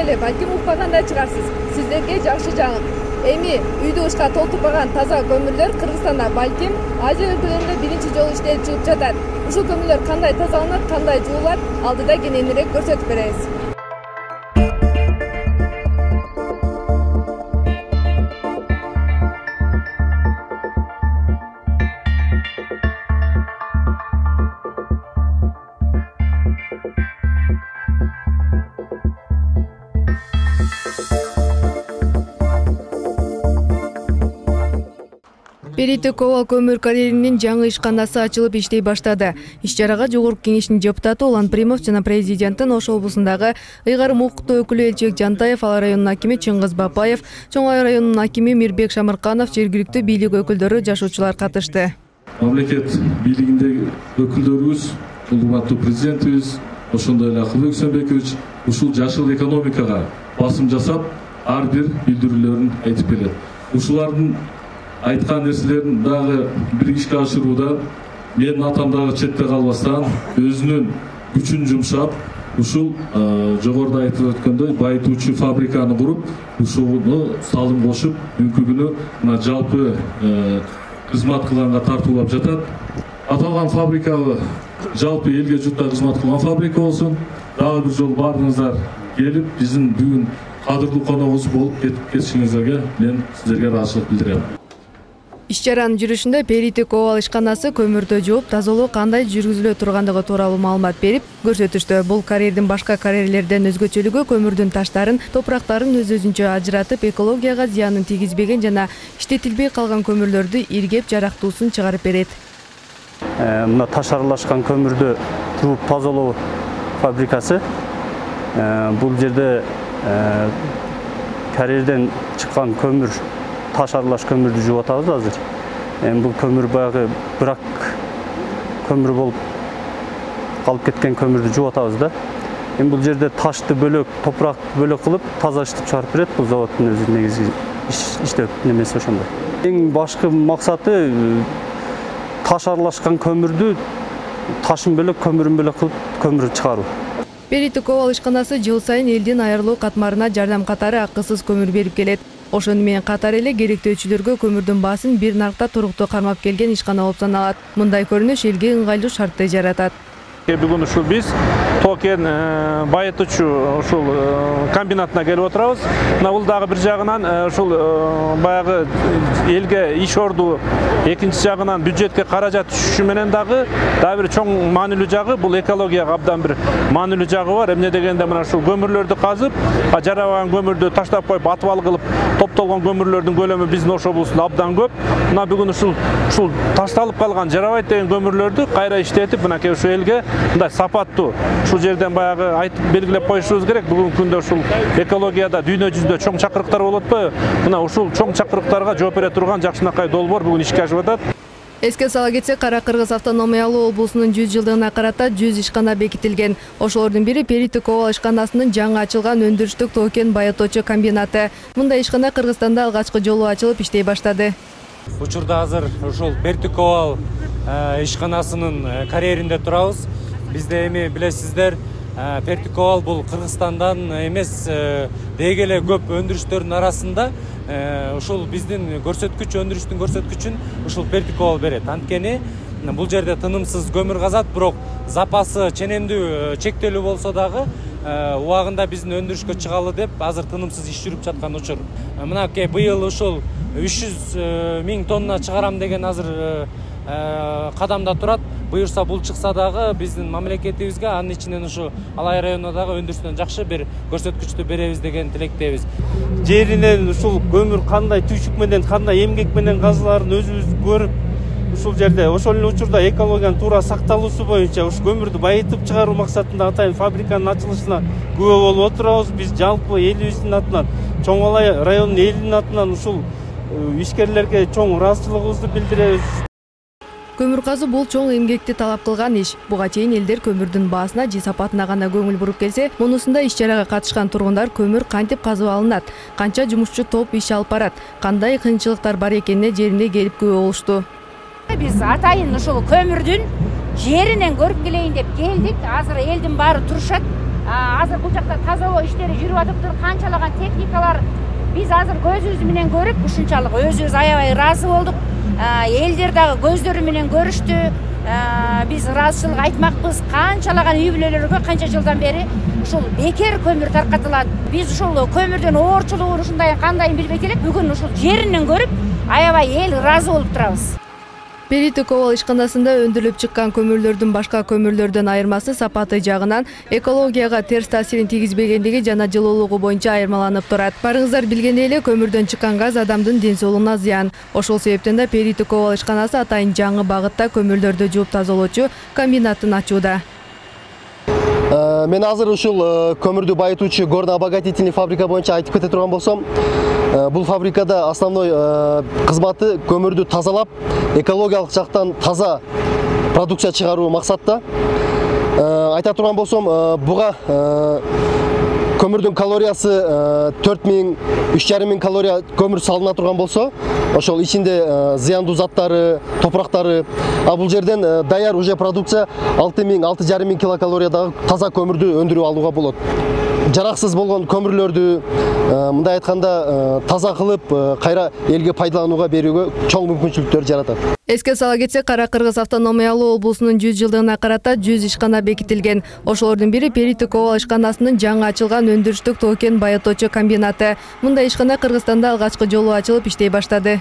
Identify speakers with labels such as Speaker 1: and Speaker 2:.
Speaker 1: эле балким укпагандай чыгарсыз. Сиздерге жакшы жаңы. Эми үйдү ышка толтурбаган таза көмүрлөр Кыргызстанда балким Азия өлкөлөрүндө биринчи жолу иштелип чыгып жатат. Ушул көмүрлөр кандай тазаланат, кандай жуулат, алдыда кененирээк көрсөтүп беребиз. Перитек Овал көмүр карьеринин жаңы ишканасы ачылып иштей баштады. Иш-чарага Жогорку Кеңештин депутаты Улан Примов жана президенттин Ош облусундагы ыйгарым укуктуу өкүлү Элчебек Жантаев, Ала районунун акими Чыңгыз Бапаев, Чоң Ай районунун акими Мирбек Шамырканов, жергиликтүү бийлик өкүлдөрү, жашоочулар катышты.
Speaker 2: Мамлекет бийлигиндеги өкүлдөрүбүз, урматтуу президентибиз, ошондой эле Акылбек Сөмбекович ушул жашыл экономикага басым жасап, ар бир билдирүүлөрүн айтып келет. Ушулардын айткан нерселерин дагы бир ишке ашырууда менин атам дагы четте калбастан өзүнүн күчүн жумшап, ушул жогоруда айтылып өткөндөй байытуучу фабриканы куруп, ушуну салым кошуп, бүгүнкү күнү мына жалпы кызмат кылганга тартуулап жатат. Аталган фабрика жалпы элге журтка кызмат кылган фабрика болсун. Дагы бир жолу баарыңыздар келип, биздин бүгүн кадырлуу коногубуз болуп кетишиңиздерге мен сиздерге ыраазычылык билдирем.
Speaker 1: Иш-чаранын жүрүшүндө Перитек Овал ишканасы көмүрдү жууп, тазалоо кандай жүргүзүлө тургандыгы тууралуу маалымат берип көрсөтүштү. Бул карьердин башка карьерлерден өзгөчөлүгү көмүрдүн таштарын, топурактарын өз-өзүнчө ажыратып, экологияга зыянын тийгизбеген жана иштетилбей калган көмүрлөрдү иргеп, жарактуусун чыгарып берет.
Speaker 3: Мына таш аралашкан көмүрдү жууп тазалоо фабрикасы. Бул жерде карьерден чыккан көмүр, таш аралаш көмүрдү жууп атабыз азыр. Бул көмүр баягы брак көмүр болуп калып кеткен көмүрдү жууп атабыз да. Бул жерде ташты бөлөк, топуракты бөлөк кылып, таза иштеп чыгарып берет. Бул заводдун өзү негизги иштеп немеси ошондой. Эң башкы максаты таш аралашкан көмүрдү ташын бөлөк, көмүрүн бөлөк кылып көмүр чыгаруу.
Speaker 1: Перитек Овал ишканасы жыл сайын элдин айрылуу катмарына жардам катары акысыз көмүр берип келет. Ошону менен катар эле керектөөчүлөргө көмүрдүн баасын бир наркта туруктуу кармап келген ишкана болуп саналат. Мындай көрүнүш элге ыңгайлуу шартты жаратат.
Speaker 4: Бүгүн ушул биз токен байытуучу ушул комбинатына келип отурабыз. Мына бул дагы бир жагынан ушул баягы элге иш орду, экинчи жагынан бюджетке каражат түшүшү менен дагы бир чоң маанилүү жагы, бул экологияга абдан бир маанилүү жагы бар. Эмне дегенде мына ушул көмүрлөрдү казып, жарабаган көмүрдү таштап коюп, атыбал кылып топтолгон көмүрлөрдүн көлөмү биздин Ош облусунда абдан көп. Мына бүгүн ушул ташталып калган, жарабайт деген көмүрлөрдү кайра иштетип, мынакей ушу элге мындай сапаттуу ушул жерден баягы айтып белгилеп коюшубуз керек. Бүгүнкү күндө ушул экологияда дүйнө жүзүндө чоң чакырыктар болуп атпайбы? Мына ушул чоң чакырыктарга жооп бере турган жакшынакай долбоор бүгүн ишке ашып атат.
Speaker 1: Эске сала кетсек, Кара Кыргыз автономиялуу облусунун 100 жылдыгына карата 100 ишкана бекитилген. Ошолордун бири Перитек Овал ишканасынын жаңы ачылган өндүрүштүк токен байытуучу комбинаты. Мындай ишкана Кыргызстанда алгачкы жолу ачылып иштей баштады.
Speaker 5: Учурда азыр ушул Перитек Овал ишканасынын карьеринде турабыз. Бизде эми билесиздер, Перитек Овал бул Кыргызстандан эмес, деги эле көп өндүрүштөрдүн арасында ушул биздин өндүрүштүн көрсөткүчүн ушул Перитек Овал берет. Анткени бул жерде тынымсыз көмүр казат, бирок запасы ченемдүү, чектелүү болсо дагы убагында биздин өндүрүшкө чыгалы деп азыр тынымсыз иш жүрүп жаткан учур. Мынакей быйыл ушул 300 000 тонна чыгарам деген азыр кадамда турат. Буюрса бул чыкса дагы биздин мамлекетибизге, анын ичинен ушу Алай районуна дагы өндүрүштөн жакшы бир көрсөткүчтү беребиз деген тилектебиз.
Speaker 3: Жеринен ушул көмүр кандай түйшүк менен, кандай эмгек менен казыларын өзүбүз көрүп, ушул жерде ошол эле учурда экологиянын туура сакталуусу боюнча ушу көмүрдү байытып чыгаруу максатында атайын фабриканын ачылышына күбө болуп отурабыз. Биз жалпы элибиздин атынан, Чоң Алай районунун элинин атынан ушул ишкерлерге чоң ыраазычылыгыбызды билдиребиз.
Speaker 1: Көмүр казуу бул чоң эмгекти талап кылган иш. Буга чейин элдер көмүрдүн баасына же сапатына гана көңүл буруп келсе, мунусунда иш-чарага катышкан тургундар көмүр кантип казып алынат, канча жумушчу топ иш алып барат, кандай кыйынчылыктар бар экенине жерине келип күбө болушту.
Speaker 6: Биз атайын ушул көмүрдүн жеринен көрүп келейин деп келдик. Азыр элдин баары турушат. азыр бул жакта тазалоо иштери жүрүп атыптыр. Канчалаган техникалар биз азыр көзүбүз менен көрүп ушунчалык өзүбүз аябай ыраазы болдук. Элдер дагы көздөрү менен көрүштү. Биз ыраазычылык айтмакпыз. Канчалаган үй бүлөлөргө канча жылдан бери ушул бекер көмүр таркатылат. Биз ушул көмүрдүн оорчулугун ушундай кандайын билбейт элек. Бүгүн ушул жеринен көрүп аябай эл ыраазы болуп турабыз.
Speaker 1: Перитик Обал ишканасында өндүрүлүп чыккан көмүрлөрдүн башка көмүрлөрдөн айырмасы сапаты жагынан экологияга терс таасирин тийгизбегендиги жана жылуулугу боюнча айырмаланып турат. Барыңыздар билгендей эле көмүрдөн чыккан газ адамдын ден соолугуна зыян. Ошол себептен да Перитик Обал ишканасы атайын жаңы багытта көмүрлөрдү жууп тазалоочу комбинатын ачууда.
Speaker 7: Мен азыр ушул көмүрдү байытуучу горно-обогатительный фабрика боюнча айтып кете турган болсом, бул фабрикада основной кызматы көмүрдү тазалап, экологиялык жактан таза продукция чыгаруу максатта. Айта турган болсом, буга көмүрдүн калориясы 4000, 3500 калория көмүр салына турган болсо, ошол ичинде зыяндуу заттары, топурактары, бул жерден даяр уже продукция 6000, 6500 килокалориядагы таза көмүрдү өндүрүп алууга болот. Жараксыз болгон көмүрлөрдү мындай айтканда таза кылып кайра элге пайдаланууга берүүгө чоң мүмкүнчүлүктөр жаратат.
Speaker 1: Эске сала кетсек, Кара Кыргыз автономиялуу облусунун 100 жылдыгына карата 100 ишкана бекитилген. Ошолордун бири Перитик Обал ишканасынын жаңы ачылган өндүрүштүк токен байытуучу комбинаты. Мындай ишкана Кыргызстанда алгачкы жолу ачылып иштей баштады.